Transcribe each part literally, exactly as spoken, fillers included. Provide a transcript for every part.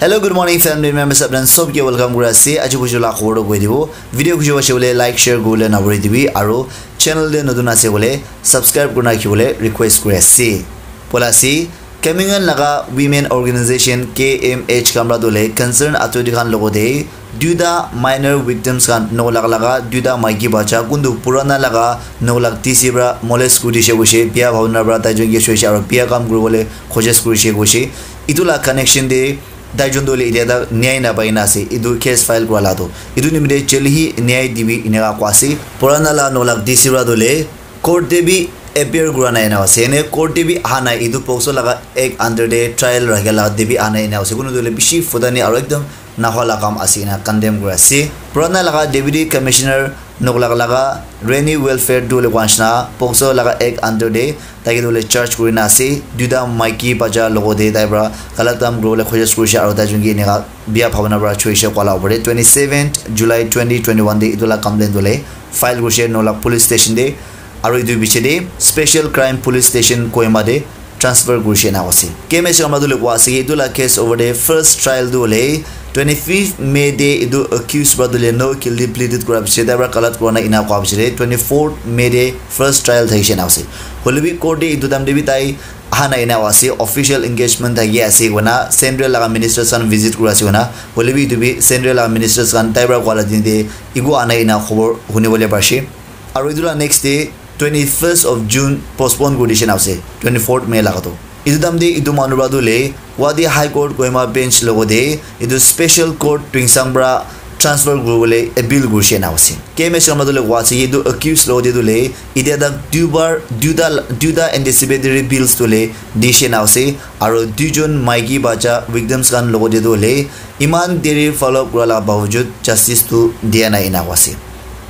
Hello, good morning, family members. Apni sob ke welcome kuri ase. Aji buju la khobor to koi dibo. Video kujo ase bole like, share kuri bole na bhuri dibi. Aru channel de notun ase bole subscribe kuri na rakhi bole request kuri ase. Bola ase, Kamengan laga women organization K M H khan para tu le concern authority khan logo de duita minor victims khan, nok lak laga duita maiki bacha, kuntu purana laga nok lak T C para molest kuri dishe koishe, biya bhabna para tai jon ke soishe aru biya kam kuri bole khojis kurishe koishe. Itu la connection de tai jon tu le itia tak nyai na pai na ase. Itu case file kura la tu. Itu nimite joldi hi nyai dibi eneka koa ase. Purana la nok lak T C para tu le court te bi appear kura nai na ase. Ene court te bi aha nai. Itu POCSO laga act under de trial rakha la te bi aha nai na ase. Kunu tu le bishi futani aru ekdom nahwa la kam ase ena condemn kuri ase. Purana laga Deputy Commissioner nok lak laga Rani Welfare tu le koa nishina POCSO laga act under de tai ke tu le charge kuri na ase. Duita maiki bacha logo de tai para galat kam kuri bole khojis kurishe aru tai jon ke eneka biya bhabna para choishe koa la opor de twenty seventh July twenty twenty-one de itu la complaint tu le file kurishe nok lak police station de. Aru itu piche de special crime police station Kohima de transfer kurishe na ase. K M H khan para tu le koa ase ki itu la case over de first trial tu le twenty-fifth May de itu accused para tu le no guilty pleaded kura piche de tai para galat kura na ena koa piche de twenty-fourth May de first trial thakishe na ase. Hoile bi court de itu time de bi tai aha nai na ase, official engagement thaki ase koina central laga ministers khan visit kura ase koina. Hoile bi itu bi central laga ministers khan tai para koa la din de iku aha nai na khobor huni bole parishe. Aru itu la next day twenty-first of June postpone kuri dishe na ase, twenty-fourth May laga tu. Itu time de itu manu para tu le Guwahati High Court Kohima bench logo de itu special court Tuensang para transfer kuri bole appeal kurishe na ase. K M H khan para tu le koa ase ki itu accused logo de tu le itia tak duibar duita duita anticipatory bails tu le dishe na ase. Aru duijon maiki bacha victims khan logo de tu le iman deri follow up kura la bawajud justice tu dia nai ena koa ase.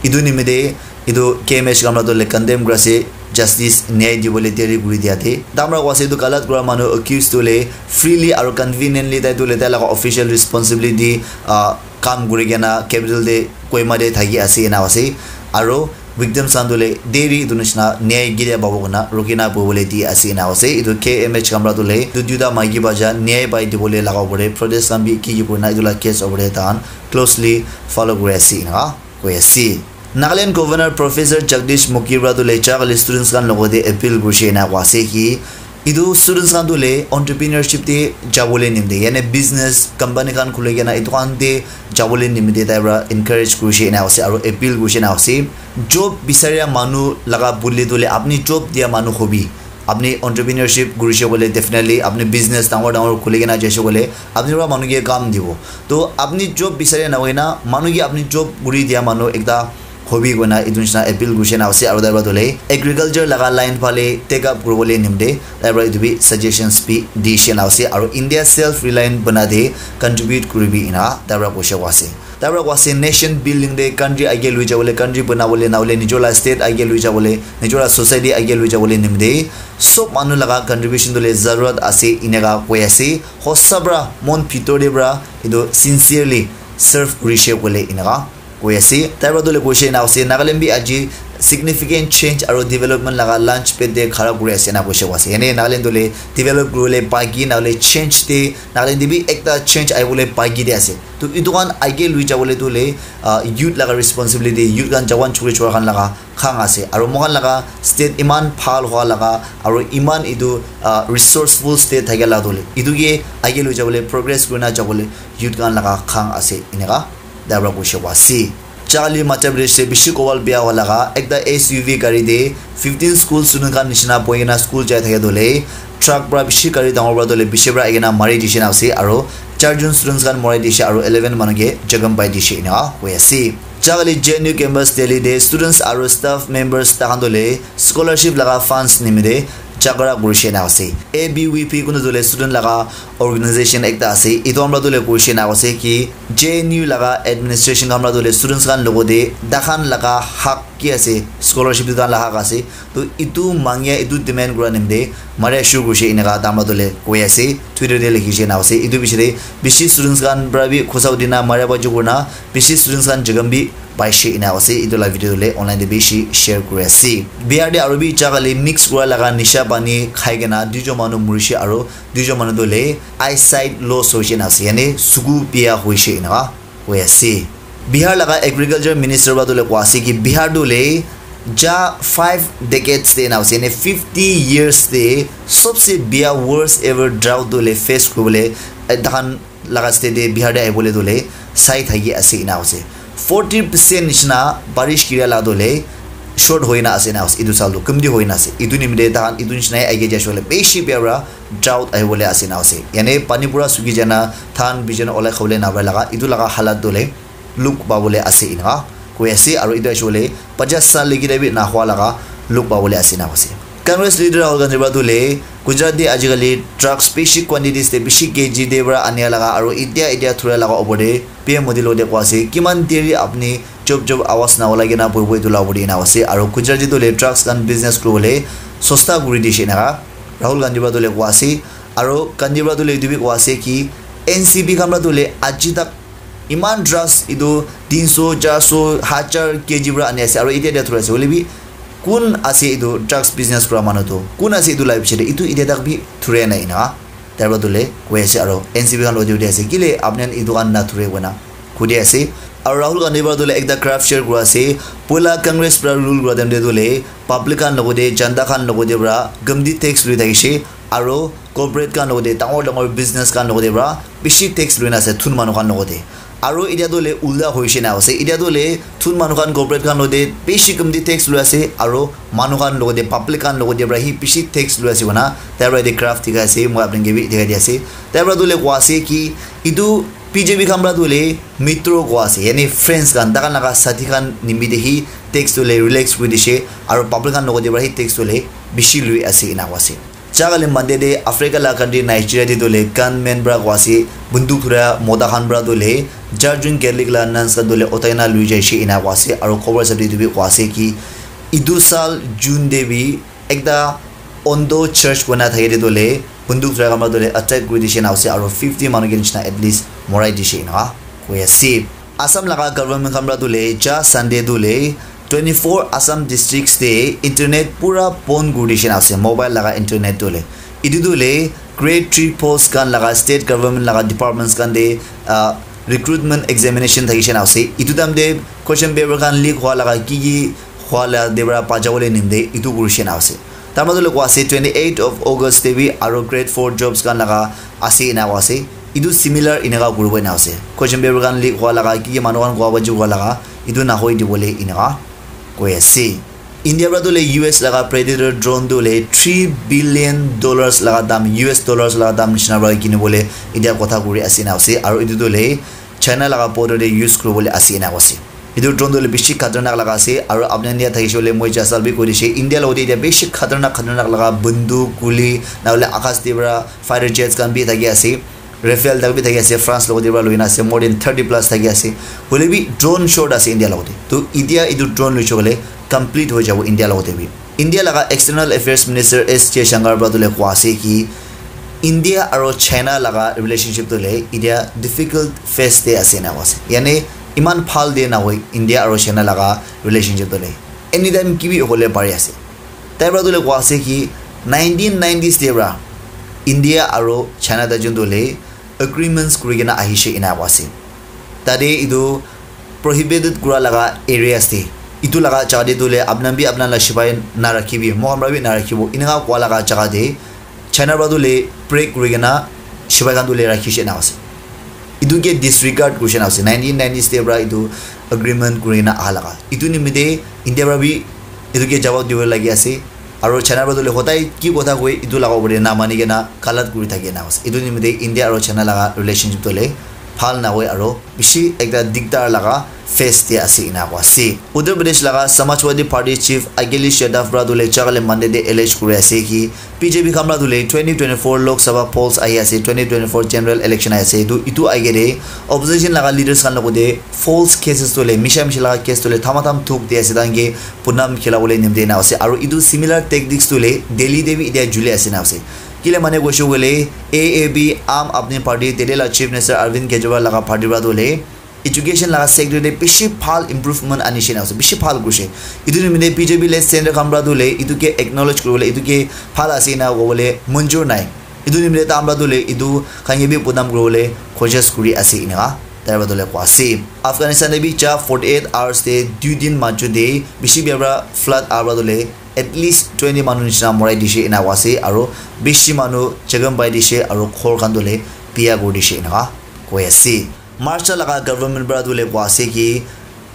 Itu nimite itu K M H khan para tu le condemn kuri ase, justice nyai dibole deri kuri dia de. Tai para koa ase itu galat kura manu accused tu le freely aru conveniently tai tu le tai laga official responsibility ah, kam kuri kena capital de Kohima de thaki ase ena ase. Aru victims khan tu le deri itu nishina nyai ketia pabo koina rukhi na bohi bole di ase ena ase. Itu K M H khan para tu le itu duita maiki bacha nyai pai dibole laga opor de protest khan bi ki ki kurina itu la case opor de tahan closely follow kuri ase ena koi ase. Nagaland Governor Professor Jagdish Mukhi para tu le jagale students khan logo de appeal kurishe ena koa ase ki itu students khan tu le entrepreneurship te jabole nimite, yani business, company khan khuli kena itu khan te jabole nimite tai para encourage kurishe ena ase aru appeal kurishe ena ase. Job bisaria manu laga bole tu le apni job dia manu hobi. Apni entrepreneurship kurishe koile definitely apni business dangor dangor khuli kena jaise koile apni para manu ke kam dibo. To apni job bisari na hoina manu ke apni job kuri dia manu ekta hobi koina itu nishina appeal kurishe na ase aru tai para tu le agriculture laga line phale take up kuribole nimite tai para itu bi suggestions bi dishe na ase aru India self reliant bana de contribute kuribi ena tai para koishe koa ase. Tai para koa ase nation building de country age lui jabole, country banabole, na hoile nijor la state age lui jabole, nijor la society age lui jabole nimite sob manu laga contribution tu le zarurat ase eneka koi ase. Hosa para mon bhitor de para etu sincerely serve kurishe koile eneka koi ase. Tai para tu le koishe ena ase Nagaland bi aji significant change aru development laga launch pad de khara kuri ase ena koishe koa ase. Ene Nagaland tu le develop kuribole baki na hoile change de Nagaland de bi ekta change ahibole baki de ase. To etu khan age lui jabole tu le ah, youth laga responsibility, youth khan jawan chukri chura khan laga khang ase aru moikhan laga state iman bhal hua laga aru iman etu ah, resourceful state thakia la tu le etu ke age lui jabole progress kurina jabole youth khan laga khang ase eneka tai para koishe koa ase. Charli Madhya Pradesh te bishi kobal bia hua laga ekta S U V gari te fifteen school student khan nishina bohi kena school jai thakia tu le truck para bishi gari dangor para tu le bishi para ahi kena mari dishe na ase aru charjon students khan morai dishe aru eleven manu ke jakham pai dishe eneka koi ase. Jagale J N U campus Delhi de students aru staff members takhan tu le scholarship laga funds nimite jhagara kurishe na ase. A B V P kunu tu le student laga organization ekta ase. Etu amra tu le koishe na ase ki J N U laga administration amra tu le students khan logo de takhan laga hak ki ase, scholarship tu takhan laga hak ase. To etu mangia, etu demand kura nimite maria shuru kurishe eneka tamra tu le koi ase. Twitter te likhishe na ase. Etu piche te bishi students khan para bi khosa udina maria ba jukuna bishi students khan jakham bi paishe ena ase. Etu la video tu le online te bishi share kuri ase. Bihar te aru bi jagale mix kura laga nisha pani khai kena duijon manu murishe aru duijon manu tu le eyesight loss hoishe na ase, yani suku bia hoishe enaka koi ase. Bihar laga agriculture minister para tu le koi ase ki Bihar tu le ja five decades te na ase, yani fifty years te sobse bia worst ever drought tu le face kuri bole, eh, tahan laga state te Bihar te ahi bole tu le sai thaki ase ena ase. Forty percent nishina barish kira la tu le short hoina ase na ase, etu sal tu kumdi hoina ase. Etu nimite tahan etu nishina age ja shole beshi bia para drought ahi bole ase na ase. Yani pani pura suki jana, than bijan olai khawole na pai laga, etu laga halat tu le look pa bole ase ena koi ase. Aru etu ahi bole pachas sal legi de bi na hua laga look pa bole ase na ase. Congress leader Rahul Gandhi para tu le Gujarat te ajikali drugs beshi quantities te beshi K G te para ania laga aru itia itia thura laga opor te P M Modi lo te koi ase kiman deri apni chop chop awas na ulai kena boi boi tu la opor te ena ase. Aru Gujarat te tu le drugs khan business kuri bole sosta kuri dishe enaka Rahul Gandhi para tu le koi ase. Aru Gandhi para tu le etu bi koi ase ki N C B khan para tu le aji tak iman drugs etu tinso, charso, hajar K G para ani ase aru itia itia thura ase. Hoile bi kun ase etu drugs business kura manu tu? Kun ase etu la piche te? Etu itia tak bi thura nai ena. Tar para tu le koi ase aru N C B khan lo te ase, kile apni khan etu khan na thura koi na koi di ase. Aru Rahul Gandhi para tu le ekta graph share kura ase. Poila Congress para rule kura time te tu le public khan logo te, janta khan logo te para gamdi tax lui thakishe. Aru corporate khan logo te, dangor dangor business khan logo te para bishi tax lui na ase thun manu khan logo te. Aru itia tu le ulta hoishe na ase. Itia tu le thun manu khan corporate khan logo te bishi gamdi tax lui ase. Aru manu khan logo te, public khan logo te para hi bishi tax lui ase koi na tai para ete graph dikhai ase. Moi apni khan ke bi dikhai di ase. Tai para tu le koi ase ki etu B J P khan para tu le mitro koi ase, yani friends khan, tai khan laga sathi khan nimite hi tax tu le relax kuri dishe, aru public khan logo te para hi tax tu le bishi lui ase ena koi ase. Ja kali Monday te Africa la country Nigeria te tu le gunman para koi ase, bunduk thura mota khan para tu le jar jun Catholic la nuns khan tu le uthai na lui jaishe ena koi ase, aru khobor hisab te etu bi koi ase ki etu sal June te bi ekta Ondo church koi na thaki te tu le bunduk thura khan para tu le attack kuri dishe na ase, aru fifty manu ke nishina at least morai dishe ena koi ase. Assam laga government khan para tu le ja Sunday tu le twenty four Assam districts te internet pura bon kuri dishe na ase, mobile laga internet tu le. Etu tu le grade three post khan laga state government laga departments khan te, ah, recruitment examination thakishe na ase. Etu time te question paper khan leak hua laga ki ki hua la te para bacha bole nimite etu kurishe na ase. Tar majo le koi ase twenty eight of August te bi aru grade four jobs khan laga ase ena koi ase. Etu similar eneka kuribo ena ase. Question paper khan leak hua laga ki ki manu khan koi baji hua laga etu nahoi dibole eneka koi ase. India para tu le U S laga Predator drone tu le three billion dollars laga dam, U S dollars laga dam nishina para kini bole India kotha kuri ase ena ase. Aru etu tu le China laga border te use kuri bole ase ena koi ase. Etu drone tu le bishi khatarnak laga ase. Aru apni India thakishe hoile moi jasal bi koi dishe, India logote etia bishi khatarnak khatarnak laga bunduk, guli, na hole akash te para fighter jets khan bi thaki ase. Rafale tak bi thaki ase, France logote para loina ase, more than thirty plus thaki ase. Hoile bi drone short ase India logote. To etia etu drone loishe koile complete hoi jabo India logote bi. India laga External Affairs Minister S Jaishankar para tu le koi ase ki India aro China laga relationship tu le etia difficult phase te ase ena koi ase. Yani iman bhal te nahoi India aro China laga relationship tu le. Anytime ki bi hole pari ase. Tai para tu le koi ase ki nineteen nineties te para India aro China ta jun tu le agreements kuri kena ahishe ena koi ase. Tate etu prohibited kura laga areas te, etu laga jaga te tu le apna bi apna la shipai na rakhibi, moi khan para bi na rakhibo, eneka kua laga jaga te China para tu le break kuri kena shipai khan tu le rakhishe na ase. Etu ke disregard kurishe na ase. Nineteen nineties te para etu agreement kuri kena aha laga. Etu nimite India para bi etu ke jawab dibo lagi ase. Aro China para tu le hodai ki kotha koi etu laga upor te na mani kena galat kuri thaki na ase. Etu nimite India aro China laga relationship tu le bhal na hoi aro bishi ekta digdar laga phase te ase ena koi ase. Uttar Pradesh laga Samajwadi Party chief Akhilesh Yadav para tu le ja kali Monday te allege kuri ase ki B J P khan para tu le twenty twenty-four Lok Sabha polls ahi ase, twenty twenty-four general election ahi ase. Etu, etu ahi kene opposition laga leaders khan logote false cases tu le, misha misha laga case tu le thama tham thuk di ase, tahan ke Punam khila bole nimte na ase. Aru etu similar tactics tu le Delhi te bi etia juli ase na ase. Kile mane koishe koile A A P, Aam Aadmi Party, Delhi la Chief Minister Arvind Kejriwal laga party para tu le education laga sector te bishi bhal improvement anishe na ase, bishi bhal kurishe. Etu nimite B J P le center khan para tu le etu ke acknowledge kuribole, etu ke bhal ase na kobole manjur nai. Etu nimite tahan para tu le etu khan ke bi bodnam kuribole koshish kuri ase eneka tai para tu le koa ase. Afghanistan te bi ja forty eight hours te dui din majo te bishi bia para flood aha para tu le at least twenty manu nishina morai dishe ena koa ase, aro bishi manu jakham pai dishe aro ghor khan tu le biya kuri dishe eneka koi ase. Maharashtra laga government para tu le koa ase ki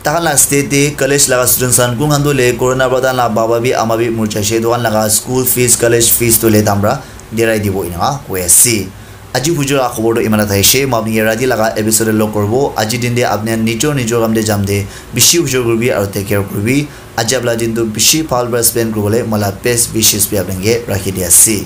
takhan la state te college laga students khan kun khan tu le corona para tahan la baba bi ama bi mur jaishe, etu khan laga school fees, college fees tu le tahan para dirai dibo eneka koi ase. Aji bujor laga khobor tu iman ta thaishe, moi apni ke rati laga episode te log koribo. Aji din te apni nijor nijor kam te jam te bishi bujor kuribi aro take care kuribi. Aji apni la din tu bishi bhal para spend kuribole moi la best wishes bi apni ke rakhi di ase.